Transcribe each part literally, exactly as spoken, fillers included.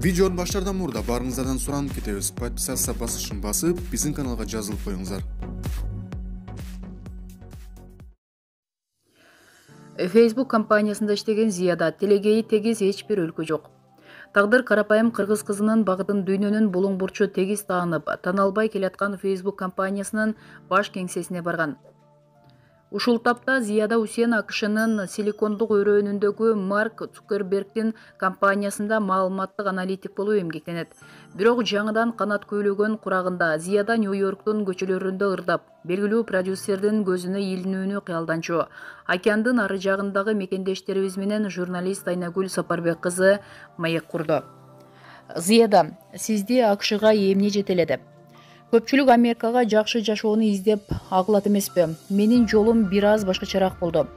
Видеонун баштаардан мурда баарыңыздардан суранып кетебиз. Подписаться басышын басып, биздин каналга жазылып коюңуздар. Facebook компаниясында иштеген Зияда телегейи тегиз эч бир өлкө жок. Тагдыр карапайым кыргыз кызынын багытын дүйнөнүн булуң бурчу тегиз таанып, тана албай келаткан Facebook компаниясынын баш кеңсесине барган. Ушул тапта Зияда Усен АКШнын Силикондук өрөөнүндөгү Марк Цукербергдин компаниясында маалыматтык аналитик болуп эмгектенет. Бирок жаңыдан канат көйлөгөн курагында Зияда Нью-Йорктун көчөлөрүндө ырдап, белгилүү продюсердин көзүнө илинүүнү кыялданчу. Океандын ары жагындагы мекендештерибиз менен журналист Айнагүл Сапарбек кызы маек курду. Зияда, сизди АКШга эмне жетеледи? Көпчүлүк Америкага жакшы жашоону издеп агылат эмеспи? Менин жолум бир аз башкачараак болду.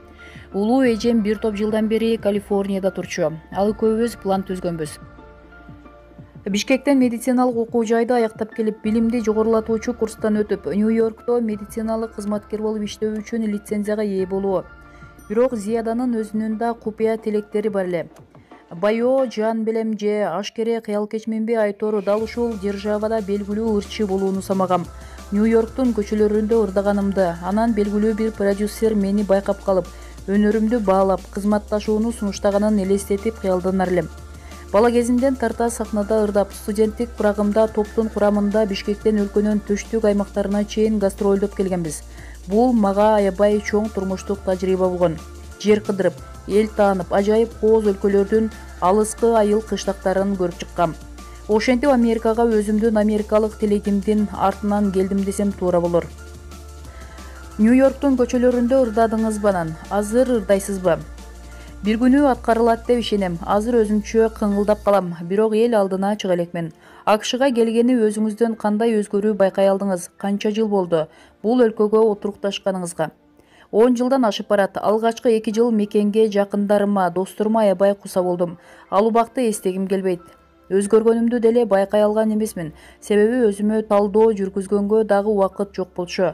Улуу эжем бир топ жылдан бери Калифорнияда турчу. Ал экөөбүз план түзгөнбүз. Бишкектен медициналык окуу жайды аяктап келип, билимди жогорулатуучу курстан өтүп, Нью-Йоркто медициналык кызматкер болуп иштөө үчүн лицензияга ээ болуу. Бирок Зияданын өзүнүн да купуя тилектери бар эле. Байоо жан белем же ашкере кыял кечменби айтор дал ушул державада белгилүү ырчы болууну самагам. Нью-Йорктун көчөлөрүндө ырдаганымды, анан белгилүү бир продюсер мени байкап калып, өнөрүмдү баалап, кызматташууну сунуштаганын элестетип кыялданар элем. Бала кезимден тарта сахнада ырдап, студенттик бурагымда топтун курамында Бишкектен өлкөнүн түштүк аймактарына чейин гастролдоп келгенбиз. Бул мага аябай чоң турмуштук тажрыйба болгон. Жер кыдырып, эл таанып, ажайып кооз өлкөлөрдүн алыскы айыл кыштактарын көрүп чыккам. Ошентип Америкага өзүмдүн америкалык тилегимдин артынан келдим десем туура болор. Нью-Йорктун көчөлөрүндө ырдадыңызбы анан? Азыр ырдайсызбы? Бир күнү аткарылат деп ишенем. Азыр өзүмчө кыңылдап калам, бирок эл алдына чыга элекмин. АКШга келгени өзүңүздөн кандай өзгөрүү байкай алдыңыз? Канча жыл болду бул өлкөгө отурукташканыңызга? он жылдан ашып барат. Алгачкы эки жыл мекенге жакындарыма, досторума аябай куса болдум. Ал убакты эстегим келбейт. Өзгөргөнүмдү деле байкай алган эмесмин. Себеби өзүмө талдоо жүргүзгөнгө дагы убакыт жок болчу.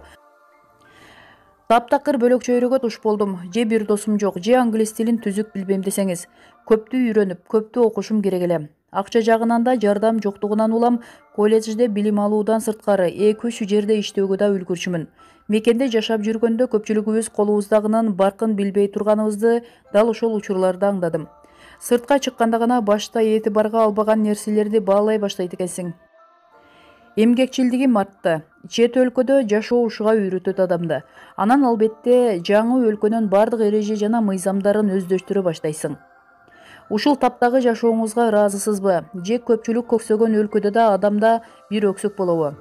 Таптакыр бөлөкчөйрөгө туш болдум. Же бир досум жок, же англис тилин түзүк билбейм десеңиз. Көптү үйрөнүп, көптү окушум керек эле. Акча жагынан да жардам жоктугунан улам колледжде билим алуудан сырткары эки үч жерде иштөөгө да үлгүрчүмүн. Мекенде жашап жүргөндө көпчүлүгүбүз колубуздагынын баркын билбей турганыбызды дал ошол учурларда аңдадым. Сыртка чыкканда гана башта этибарга албаган нерселерди баалай баштайт экенсиң. Эмгекчилдигим артты. Чет өлкөдө жашоо ушуга үйрөтөт адамды. Анан албетте жаңы өлкөнүн бардык эреже жана мыйзамдарын өздөштүрө баштайсың. Ушул таптагы жашооңузга ыраазысызбы? Же көпчүлүк көксөгөн өлкөдө да адамда бир өксөк болобу?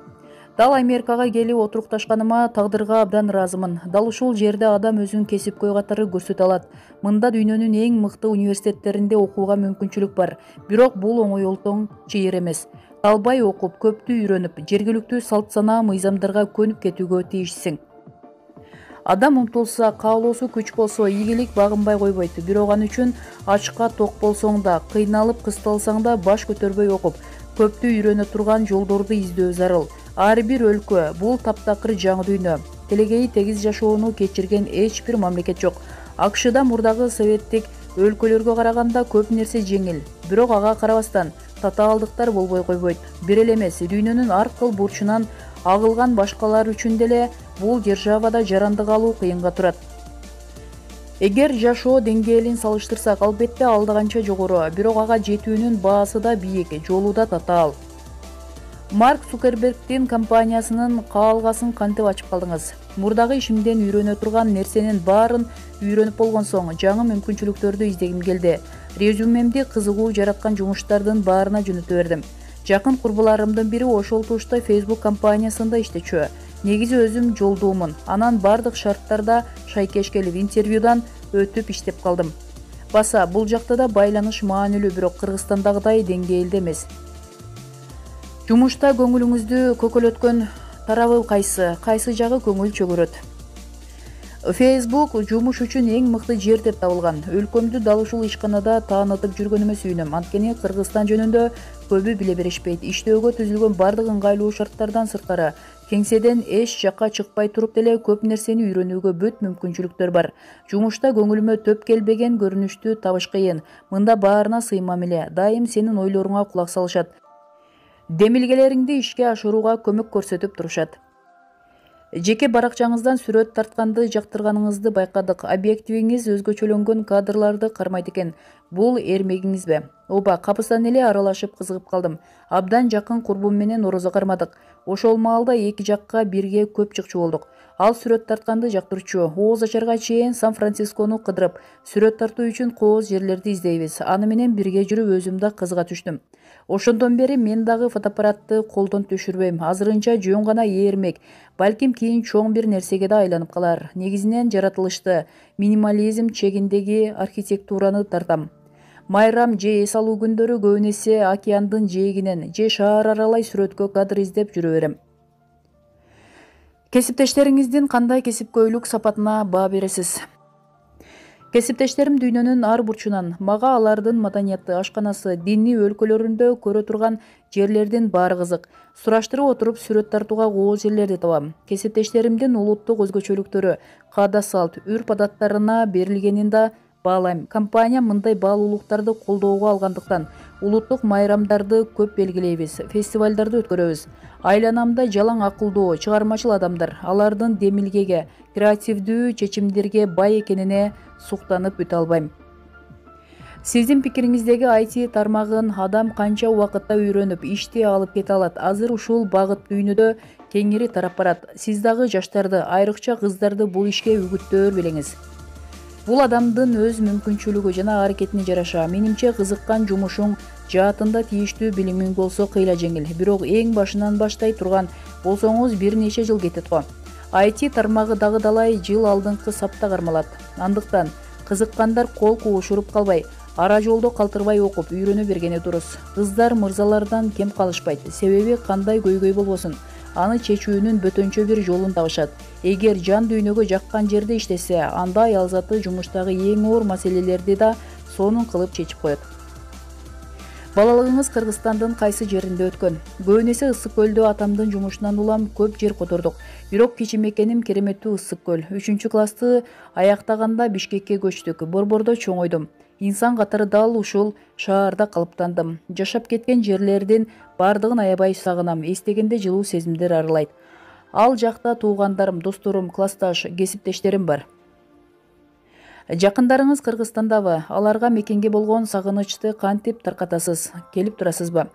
Дал Америкага келип отурукташканыма тагдырга абдан ыраазымын. Дал ушул жерде адам өзүн кесипкөй катары көрсөтө алат. Мында дүйнөнүн эң мыкты университеттеринде окууга мүмкүнчүлүк бар. Бирок бул оңойлтоң чыйыр эмес. Талбай окуп, көптү үйрөнүп, жергиликтүү салт санаа мыйзамдарга көнүп кетүүгө тийишсиң. Адам умтулса, каалоосу күч болсо, ийгилик багынбай койбойт. Бирок ал үчүн ачка ток болсоң да, кыйналып кысталсаң да баш көтөрбөй окуп, көптү үйрөнө турган жолдорду издөө зарыл. Ар бир өлкө бул таптакыр жаңы дүйнө. Телегейи тегиз жашоону кечирген эч бир мамлекет жок. АКШда мурдагы советтик өлкөлөргө караганда көп нерсе жеңил. Бирок ага карабастан татаалдыктар болбой койбойт. Бир эле эмес, дүйнөнүн ар кыл бурчунан агылган башкалар үчүн деле бул державада жарандык алуу кыйынга турат. Эгер жашоо деңгээлин салыштырсак, албетте алдаганча жогору, бирок ага жетүүнүн баасы да бийик, жолу да татаал. Марк Цукербергдин компаниясынын каалгасын кантип ачып калдыңыз? Мурдагы ишимден үйрөнө турган нерсенин баарын үйрөнүп болгон соң жаңы мүмкүнчүлүктөрдү издегим келди. Резюмемди кызыгуу жараткан жумуштардын баарына жөнөтө бердим. Жакын курбуларымдын бири ошол тушта Facebook компаниясында иштечү. Негизи өзүм жолдуумун. Анан бардык шарттарда шайкеш келип интервьюдан өтүп иштеп калдым. Баса бул жакта да байланыш маанилүү, бирок Кыргызстандагыдай деңгээлде эмес. Жумушта көңүлүңүздү көкөлөткөн тарабы кайсы? Кайсы жагы көңүл чөгөрөт? Facebook жумуш үчүн эң мыкты жер деп табылган. Өлкөмдү дал ушул ишканада таанытып жүргөнүмө сүйүнөм. Анткени Кыргызстан жөнүндө көбү биле беришпейт. Иштөөгө түзүлгөн бардык ыңгайлуу шарттардан сырткары Кеңседен эч жакка чыкпай туруп деле көп нерсени үйрөнүүгө бүт мүмкүнчүлүктөр бар. Жумушта көңүлүмө төп келбеген көрүнүштү табыш кыйын. Мында баарына сыймам эле. Дайым сенин ойлоруңа кулак салышат. Демилгелериңди ишке ашырууга көмөк көрсөтүп турушат. Жеке баракчаңыздан сүрөт тартканды жактырганыңызды байкадык. Объективиңиз өзгөчөлөнгөн кадрларды кармайт экен. Бул эрмегиңизби? Оба, капыстан эле аралашып кызыгып калдым. Абдан жакын курбум менен орозо кармадык. Ошол маалда эки жакка бирге көп чыкчу болдук. Ал сүрөт тартканды жактырчу. Ооз ачарга чейин Сан-Францискону кыдырып, сүрөт тартуу үчүн кооз жерлерди издейбиз. Аны менен бирге жүрүп өзүм да кызыга түштүм. Ошондон бери мен дагы фотоаппаратты колдон төшүрбөйм. Азырынча жөн гана ээрмек. Балким кийин чоң бир нерсеге да айланып калар. Негизинен жаратылышты, минимализм чегиндеги архитектураны тартам. Майрам же эс алуу күндөрү көбүн эсе океандын жээгинен же шаар аралай сүрөткө кадр издеп жүрө берем. Кесиптештериңиздин кандай кесипкөйлүк сапатына баа бересиз? Кесиптештерим дүйнөнүн ар бурчунан. Мага алардын маданияты, ашканасы, диний өлкөлөрүндө көрө турган жерлердин баары кызык. Сураштырып отуруп сүрөт тартууга кооз жерлерди табам. Кесиптештеримдин улуттук өзгөчөлүктөрү, каада салт, үрп адаттарына берилгенин да баалайм. Компания мындай баалуулуктарды колдоого алгандыктан улуттук майрамдарды көп белгилейбиз, фестивалдарды өткөрөбүз. Айланамда жалаң акылдуу, чыгармачыл адамдар, алардын демилгеге, креативдүү чечимдерге бай экенине суктанып бүтө албайм. Сиздин пикириңиздеги ай ти тармагын адам канча убакытта үйрөнүп, ишти алып кете алат? Азыр ушул багыт дүйнөдө кеңири тарап барат. Сиз дагы жаштарды, айрыкча кыздарды бул ишке үгүттөөр белеңиз. Бул адамдын өз мүмкүнчүлүгү жана аракетине жараша. Менимче кызыккан жумушуң жаатында тийиштүү билимиң болсо кыйла жеңил. Бирок эң башынан баштай турган болсоңуз бир нече жыл кетет го. ай ти тармагы дагы далай жыл алдыңкы сапта кармалат. Андыктан кызыккандар кол куушуруп калбай, ара жолдо калтырбай окуп, үйрөнө бергени дурус. Кыздар мырзалардан кем калышпайт. Себеби кандай көйгөй болбосун, аны чечүүнүн бөтөнчө бир жолун табышат. Эгер жан дүйнөгө жаккан жерде иштесе, анда аялзаты жумуштагы эң оор маселелерди да сонун кылып чечип коет. Балалыгыңыз Кыргызстандын кайсы жеринде өткөн? Көбүн эсе Ысык көлдө атамдын жумушунан улам көп жер котордук. Бирок кичимекеним кереметтүү Ысык көл. үчүнчү классты аяктаганда Бишкекке көчтүк. Борбордо чоңойдум. Инсан катары дал ушул шаарда калыптандым. Жашап кеткен жерлердин бардыгын аябай сагынам. Эстегенде жылуу сезимдер арылайт. Ал жакта туугандарым, досторум, классташ, кесиптештерим бар. Жакындарыңыз Кыргызстандабы? Аларга мекенге болгон сагынычты кантип таркатасыз? Келип турасызбы?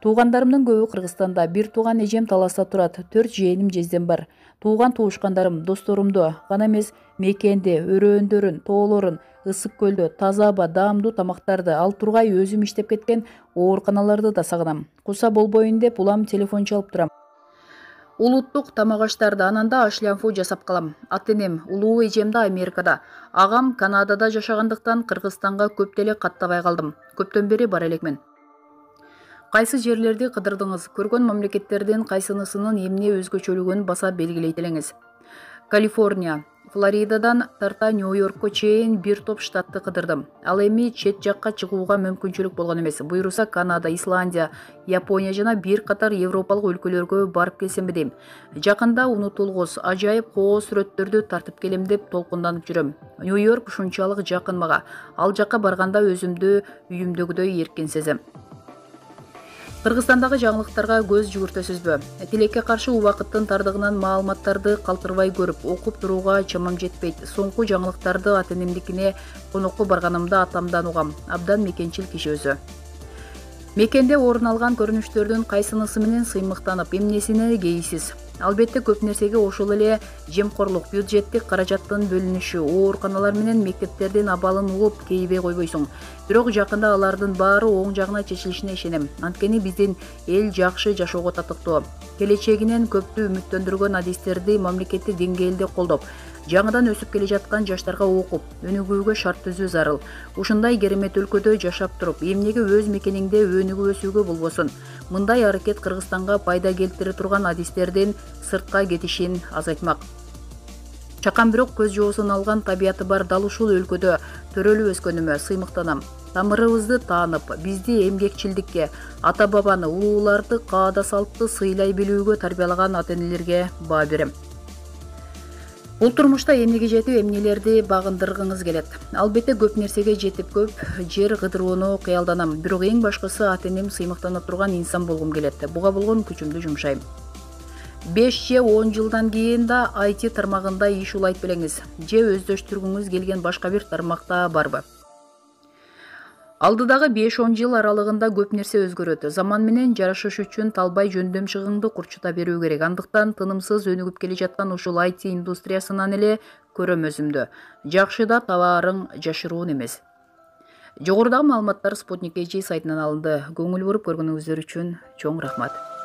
Туугандарымдын көбү Кыргызстанда. Бир тууган эжем Таласта турат. Төрт жээним жездем бар. Тууган туушкандарым, досторумду гана эмес, мекенди, өрөөндөрүн, тоолорун, Ысык көлдө таза аба, даамдуу тамактарды, ал тургай өзүм иштеп кеткен ооруканаларды да сагынам. Куса болбойн деп улам телефон чалып турам. Улуттук тамак аштарды, анан да ашлянфу жасап калам. Ата энем, улуу эжем да Америкада. Агам Канадада жашагандыктан Кыргызстанга көп деле каттабай калдым. Көптөн бери бара элекмин. Кайсы жерлерди кыдырдыңыз? Көргөн мамлекеттердин кайсынысынын эмне өзгөчөлүгүн баса белгилейт элеңиз? Калифорния, Флоридадан тарта Нью-Йоркко чейин бир топ штатты кыдырдым. Ал эми чет жакка чыгууга мүмкүнчүлүк болгон эмес. Буйруса Канада, Исландия, Япония жана бир катар европалык өлкөлөргө барып келсемби дейм. Жакында унутулгус, ажайып кооз сүрөттөрдү тартып келем деп толкунданып жүрөм. Нью-Йорк ушунчалык жакын мага. Ал жакка барганда өзүмдү үйүмдөгүдөй эркин сезем. Кыргызстандагы жаңылыктарга көз жүгүртөсүзбү? Тилекке каршы убакыттын тардыгынан маалыматтарды калтырбай көрүп, окуп турууга чамам жетпейт. Соңку жаңылыктарды ата энемдикине конокко барганымда атамдан угам. Абдан мекенчил киши өзү. Мекенде орун алган көрүнүштөрдүн кайсынысы менен сыймыктанып, эмнесине кейсиз? Албетте көп нерсеге ошол эле жемкорлук, бюджеттик каражаттын бөлүнүшү, ооруканалар менен мектептердин абалын угуп кейбей койбойсуң. Бирок жакында алардын баары оң жагына чечилишине ишенем. Анткени биздин эл жакшы жашоого татыктуу. Келечегинен көптү үмүттөндүргөн адистерди мамлекеттик деңгээлде колдоп, жаңыдан өсүп келе жаткан жаштарга окуп, өнүгүүгө шарт түзүү зарыл. Ушундай керемет өлкөдө жашап туруп, эмнеге өз мекениңде өнүгүп өсүүгө болбосун? Мындай аракет Кыргызстанга пайда келтире турган адистердин сыртка кетишин азайтмак. Чакан бирок көз жоосун алган табияты бар дал ушул өлкөдө төрөлүп өскөнүмө сыймыктанам. тамырыбызды таанып, бизди эмгекчилдикке, ата бабаны, улууларды, каада салтты сыйлай билүүгө тарбиялаган ата-энелерге баа берем. Бул турмушта эмнеге жетип, эмнелерди багындыргыңыз келет. Албетте көп нерсеге жетип, көп жер кыдырууну кыялданам. Бирок эң башкысы ата-энем сыймыктана турган инсан болгум келет. Буга болгон күчүмдү жумшайм. беш же он жылдан кийин да ай ти тармагында иш улайт белеңиз. Же өздөштүргүңүз келген башка бир тармакта барбы? Алдыдагы беш он жыл аралыгында көп нерсе өзгөрөт. Заман менен жарашыш үчүн талбай жөндөм чыгыңды курчута берүү керек. Андыктан тынымсыз өнүгүп келе жаткан ушул ай ти индустриясынан эле көрөм өзүмдү. Жакшы да табарың жашыруун эмес. Жогорудагы маалыматтар Спутник эйч ди сайтынан алынды. Көңүл буруп көргөнүңүздөр үчүн чоң рахмат.